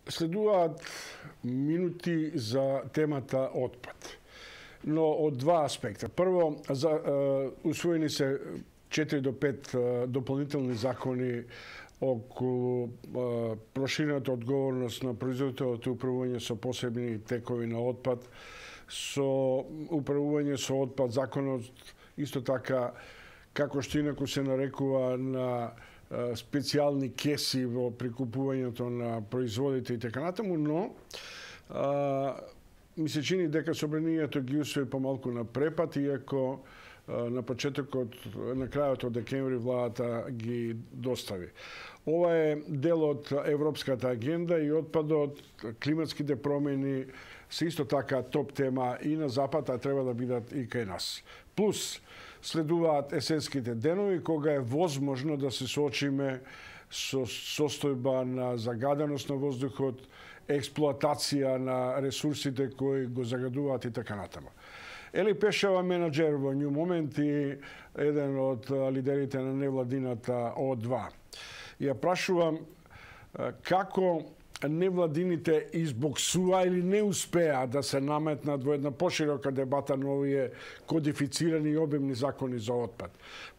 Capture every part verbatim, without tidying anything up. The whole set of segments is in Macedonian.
Следуваат минути за темата отпад. Но од два аспекта. Прво, за, е, усвоени се четири до пет е, дополнителни закони околу е, проширената одговорност на производителот и управување со посебни текови на отпад, со управување со отпад, законот исто така, како што инаку се нарекува на специјални кеси во прикупувањето на производите и така натаму, но а, ми се чини дека собранието ги усвои помалку на препат, иако а, на почетокот, на крајот од декември владата ги достави. Ова е дел од Европската агенда и отпадот, климатските промени се исто така топ тема и на Запад, а треба да бидат и кај нас. Плюс, следуваат есенските денови, кога е возможно да се соочиме со состојба на загаденост на воздухот, експлоатација на ресурсите кои го загадуваат и така натаму. Ели Пешева, менаџер во New Moment и еден од лидерите на невладината О два. Ја прашувам како невладините избоксува или не успеа да се наметнат во една поширока дебата на овие кодифицирани и обемни закони за отпад.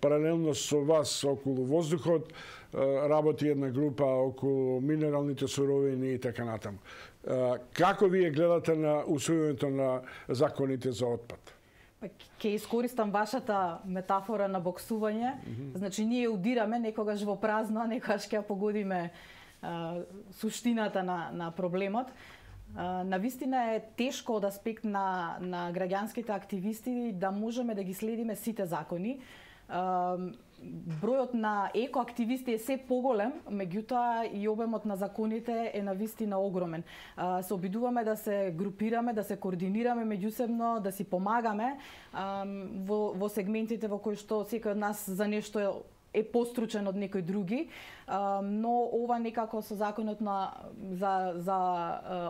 Паралелно со вас околу воздухот работи една група околу минералните суровини и така натаму. Како вие гледате на усвојувањето на законите за отпад? Ке искористам вашата метафора на боксување. Mm -hmm. Значи, ние удираме некогаш во празно, а некогаш ќе погодиме Uh, суштината на, на проблемот. Uh, навистина е тешко од аспект на, на граѓанските активисти да можеме да ги следиме сите закони. Uh, бројот на екоактивисти е се поголем, меѓутоа и обемот на законите е навистина огромен. Uh, се обидуваме да се групираме, да се координираме меѓусебно, да си помагаме uh, во, во сегментите во кои што секој од нас за нешто е постручен од некои други, но ова некако со законот на за за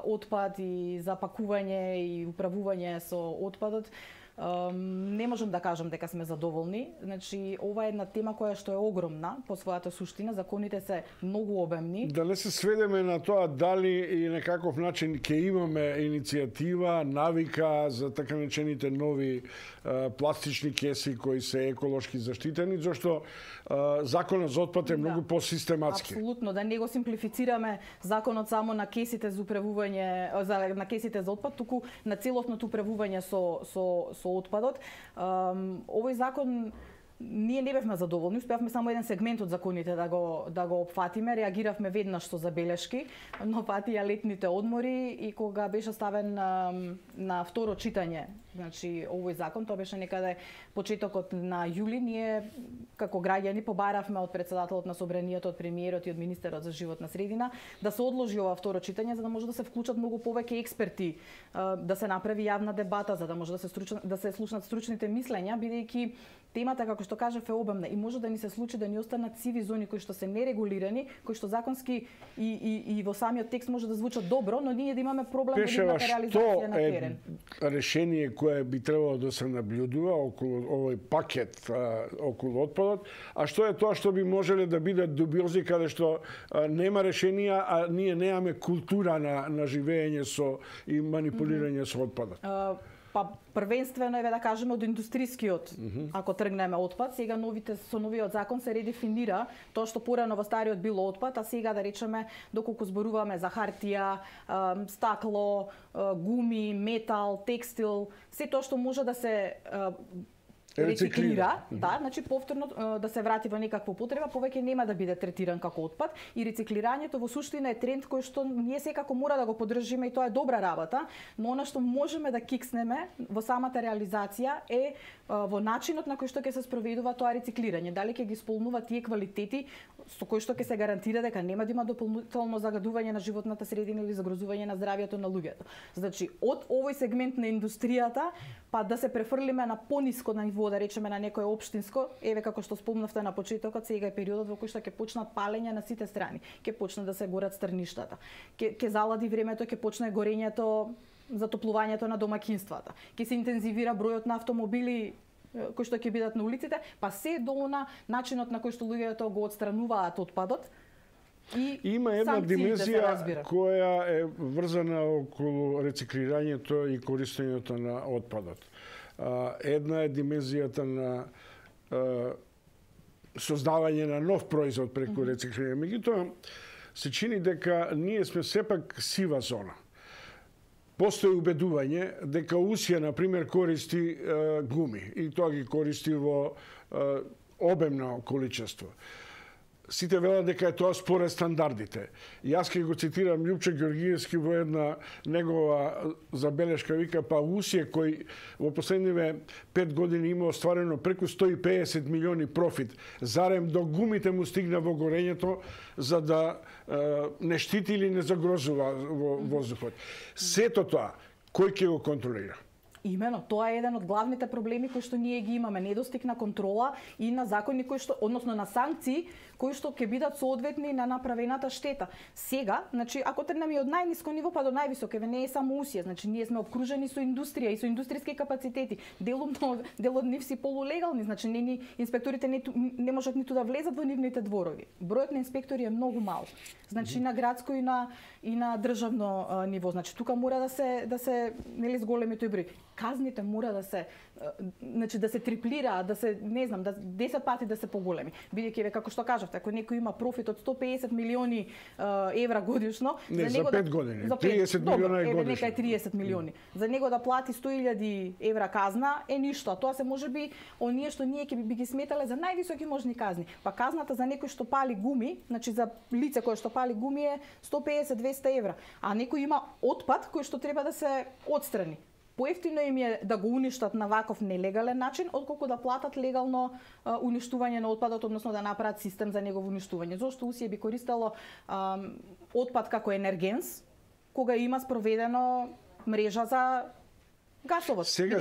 отпад и за пакување и управување со отпадот не можам да кажам дека сме задоволни. Значи, ова е една тема која што е огромна по својата суштина, законите се многу обемни. Да не се сведеме на тоа дали и некаков начин ќе имаме иницијатива, навика за така наречените нови а, пластични кеси кои се еколошки заштитени, зашто а, законот за отпад е да, многу посистематски. Апсолутно, да не го симплифицираме законот само на кесите за управување, за на кесите за отпад, туку на целосното управување со со со отпадот. Овој закон ние не бевме задоволни, успеавме само еден сегмент од законите да го да го опфатиме, реагиравме веднаш со забелешки, но патија летните одмори и кога беше ставен на, на второ читање, значи овој закон, тоа беше некаде почетокот на јули, ние како граѓани побаравме од претседателот на собранието, од премиерот и од министерот за животна средина да се одложи ова второ читање за да може да се вклучат многу повеќе експерти, да се направи јавна дебата, за да може да се стручна, да се слушнат стручните мислења, бидејќи темата, како што кажав, е обемна и може да ни се случи да ни останат сиви зони кои што се нерегулирани, кои што законски и, и, и во самиот текст може да звучат добро, но ние да имаме проблем во нивната реализација на терен. Пешева, што е решение кое би требало да се наблюдува околу овој пакет а, околу отпадот, а што е тоа што би можеле да бидат дубиози каде што а, нема решенија, а ние немаме култура на, на живење со и манипулирање mm -hmm. со отпадот? Uh, Па првенствено еве да кажеме од индустрискиот, mm -hmm. ако тргнеме отпад, сега новите со новиот закон се редефинира тоа што порано во стариот било отпад, а сега да речеме доколку зборуваме за хартија, стакло, гуми, метал, текстил, се тоа што може да се рециклира, да, значи повторно да се врати во некаква употреба, повеќе нема да биде третиран како отпад и рециклирањето во суштина е тренд кој што ние секако мора да го поддржиме и тоа е добра работа, но она што можеме да кикснеме во самата реализација е во начинот на кој што ќе се спроведува тоа рециклирање, дали ќе ги исполнува тие квалитети со кои што ќе се гарантира дека нема да има дополнително загадување на животната средина или загрозување на здравјето на луѓето. Значи, од овој сегмент на индустријата па да се префрлиме на пониско ниво, да речеме на некое општинско, еве како што спомнавте на почетокот, сега е периодот во кој што ќе почнат палење на сите страни, ќе почне да се горат стрништата, ќе ќе залади времето, ќе почне горењето, затоплувањето на домаќинствата, ќе се интензивира бројот на автомобили кои што ќе бидат на улиците, па се до на начинот на кој што луѓето го отстрануваат отпадот, И има една димензија која е врзана околу рециклирањето и користењето на отпадот. Една е димензијата на создавање на нов производ преку рециклирање. Меѓутоа, се чини дека ние сме сепак сива зона. Постои убедување дека Усија, например, користи е, гуми и тоа ги користи во е, обемно количество. Сите велат дека е тоа според стандардите. Јас ќе го цитирам Љупчо Ѓоргиевски во една негова забелешка, вика, па Усија кој во последниве пет години има остварено преку сто и педесет милиони профит, зарем до гумите му стигна во горењето за да е, не штити или не загрозува во воздухот. Сето тоа, кој ќе го контролира? Имено, тоа е еден од главните проблеми кои што ние ги имаме, недостиг на контрола и на закони кои што, односно на санкции кои што ќе бидат соодветни на направената штета. Сега, значи, ако тргнеме од најниско ниво па до највисоко, еве не е само Усија, значи ние сме обкружени со индустрија и со индустријски капацитети. Делумно, дел од нив си полулегални, значи не ни инспекторите не, не можат ниту да влезат во нивните дворови. Бројот на инспектори е многу мал. Значи на градско и на и на државно а, ниво. Значи тука мора да се да се нели зголеми тој број. Казните мора да се значи да се триплираат, да се не знам, да десет пати да се поголеми. Бидејќи ве како што кажавте, ако некој има профит од сто педесет милиони uh, евра годишно, не, за него за пет да, години, за пет, триесет милиона еве, годишно. Нека е триесет милиони. Mm. За него да плати сто илјади евра казна е ништо. Тоа се можеби оние што ние ќе би ги сметале за највисоки можни казни. Па казната за некој што пали гуми, значи за лице кое што пали гуми е сто педесет до двесте евра, а некој има отпад кој што треба да се отстрани. Поевтино им е да го уништат на ваков нелегален начин, отколку да платат легално а, уништување на отпадот, односно да направат систем за негово уништување. Зошто Усија би користело а, отпад како енергенс, кога има спроведено мрежа за гасовод. Сега,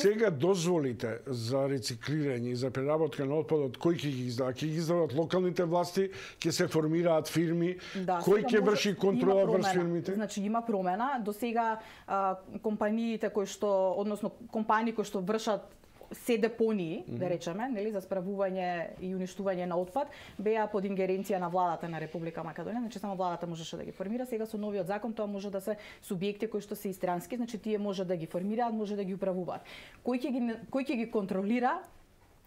сега дозволите за рециклирање и за преработка на отпадот, кој ќе ги издава? Ќе ги издават локалните власти, ќе се формираат фирми, да, кој ќе врши контрола врз фирмите? Значи има промена. До сега а, компаниите кои што, односно компании кои што вршат се депонии, mm -hmm. да речеме, нели, за справување и уништување на отпад, беа под ингеренција на владата на Република Македонија, значи само владата можеше да ги формира. Сега со новиот закон тоа може да се субјекти кои што се истрански, значи тие може да ги формираат, може да ги управуваат. Кој ќе ги кој ќе ги контролира?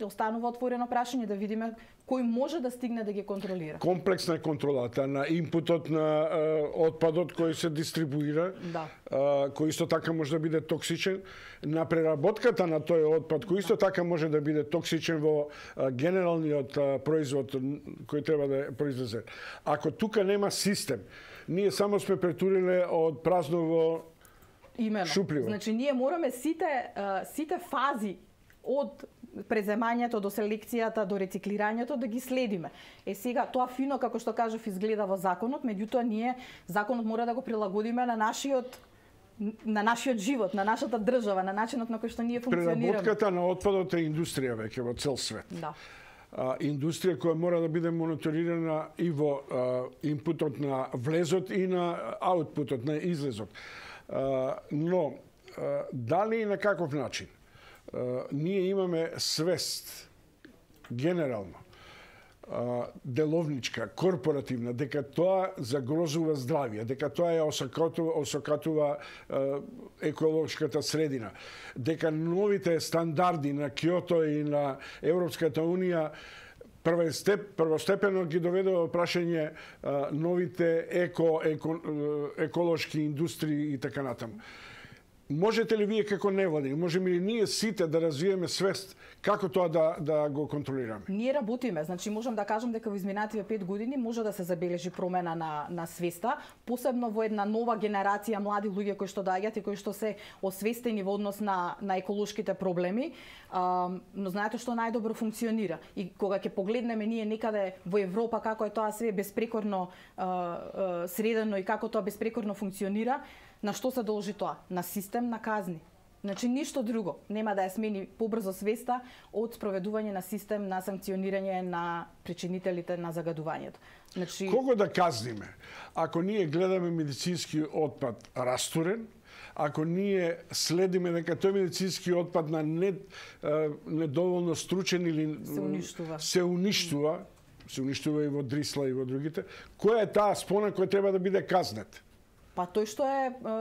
Останува отворено прашање, да видиме кој може да стигне да ги контролира. Комплексна е контролата на импутот на е, отпадот кој се дистрибуира, да. е, кој исто така може да биде токсичен, на преработката на тој отпад кој исто така може да биде токсичен во е, генералниот е, производ кој треба да е произведен. Ако тука нема систем, ние само сме претуриле од празново Имено. шупливо. Значи ние мораме сите сите фази од преземањето до селекцијата до рециклирањето да ги следиме. Е сега тоа фино како што кажав изгледа во законот, меѓутоа ние законот мора да го прилагодиме на нашиот на нашиот живот, на нашата држава, на начинот на кој што ние функционираме. Преработката на отпадот е индустрија веќе во цел свет. Да. А, индустрија која мора да биде мониторирана и во а, инпутот на влезот и на аутпутот, на излезот. А, но а, дали и на каков начин? Uh, ние имаме свест генерално uh, деловничка, корпоративна, дека тоа загрозува здравје, дека тоа е осакатува, осакатува uh, еколошката средина, дека новите стандарди на Киото и на Европската унија првостеп, првостепено ги доведува прашање uh, новите еко, еко, еколошки индустрии и така натаму. Можете ли вие како невладини, можеме ли ние сите да развиеме свест како тоа да да го контролираме? Ние работиме, значи можам да кажам дека во изминативе пет години може да се забележи промена на на свеста, посебно во една нова генерација млади луѓе кои што доаѓаат и кои што се освестени во однос на на еколошките проблеми, а, но знаете што најдобро функционира. И кога ќе погледнеме ние некаде во Европа како е тоа све беспрекорно а, а, средено и како тоа беспрекорно функционира, на што се должи тоа? На систем на казни. Значи ништо друго нема да ја смени побрзо свеста од спроведување на систем на санкционирање на причинителите на загадувањето. Значи кого да казниме? Ако ние гледаме медицински отпад растурен, ако ние следиме дека тој медицински отпад на не, недоволно стручен или се уништува, се уништува се уништува и во Дрисла и во другите. Која е таа спона која треба да биде казнет? Па тој што е, е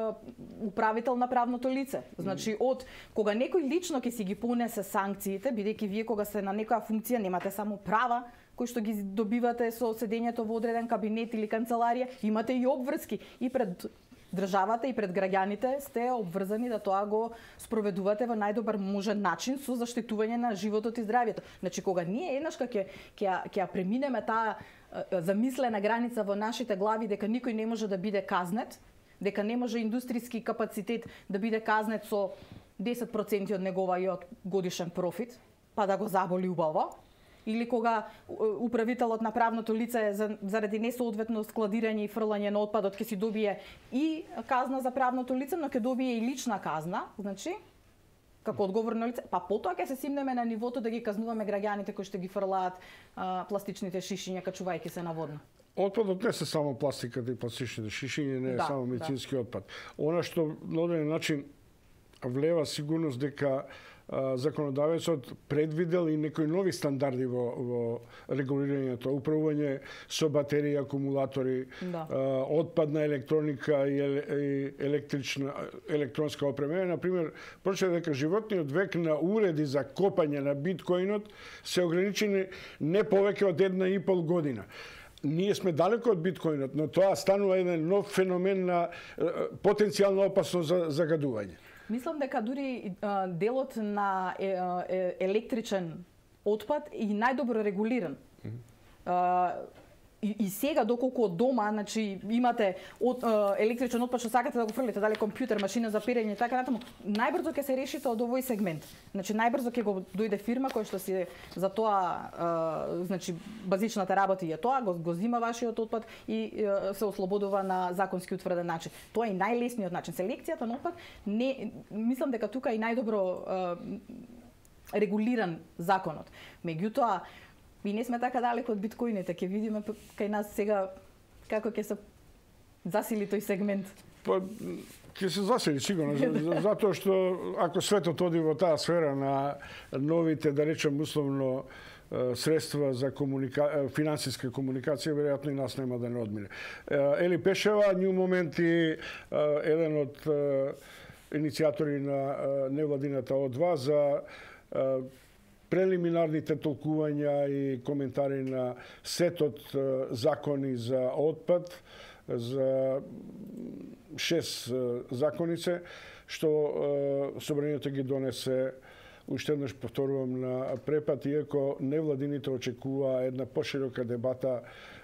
управител на правното лице. Значи, од кога некој лично ќе си ги понесе санкциите, бидејќи вие кога сте на некоја функција немате само права кои што ги добивате со седењето во одреден кабинет или канцеларија, имате и обврски и пред државата и пред граѓаните сте обврзани да тоа го спроведувате во најдобар можен начин со заштитување на животот и здравјето. Значи, кога ние еднаш ќе ќе ќе преминеме таа замислена граница во нашите глави дека никој не може да биде казнет, дека не може индустријски капацитет да биде казнет со десет проценти од неговиот годишен профит, па да го заболи убаво, или кога управителот на правното лице заради несоодветно складирање и фрлање на отпадот ќе си добие и казна за правното лице, но ќе добие и лична казна, значи како одговорно лице, па потоа ќе се симнеме на нивото да ги казнуваме граѓаните кои што ги фрлаат а, пластичните шишиња качувајќи се наводно. Отпадот не се само пластиката и пластичните шишиња, не е да, само медицински да. отпад. Она што на одреден начин влева сигурност дека законодавецот предвидел и некои нови стандарди во, во регулирањето, управување со батерии, акумулатори, да. отпадна електроника и електрична електронска опрема. Например, прочитав дека животниот век на уреди за копање на биткоинот се ограничени не повеќе од една и пол година. Ние сме далеко од биткоинот, но тоа станува еден нов феномен на потенцијално опасно за загадување. Мислам дека дури а, делот на е, е, електричен отпад е најдобро регулиран. Mm-hmm. а, и, и сега доколку од дома, значи имате от, а, електричен отпад што сакате да го фрлите, дали компјутер, машина за перење и така натаму, најбрзо ќе се решите од овој сегмент. Значи најбрзо ќе го дојде фирма која што си за тоа а, значи базичната работа е тоа, го, го зима вашиот отпад и а, се ослободува на законски утврден начин. Тоа е најлесниот начин. Селекцијата на отпад не мислам дека тука е најдобро а, регулиран законот. Меѓутоа ми не сме така далеко од биткоините, ќе видиме кај нас сега како ќе се засили тој сегмент. Па ќе се засили сигурно, затоа што ако светот оди во таа сфера на новите, да речем условно, средства за комуника... финансиска комуникација, веројатно и нас нема да не одмине. Ели Пешева, њу моменти еден од иницијатори на невладината О два за прелиминарните толкувања и коментари на сетот закони за отпад, за шест законице, што собранието ги донесе, уште еднаш повторувам, на препад, иако невладините очекува една поширока дебата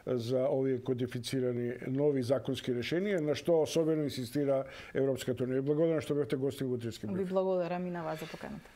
за овие кодифицирани нови законски решенија, на што особено инсистира Европската унија. Благодарам што бевте гостин во утрински брифинг. Ви благодарам и на вас за поканата.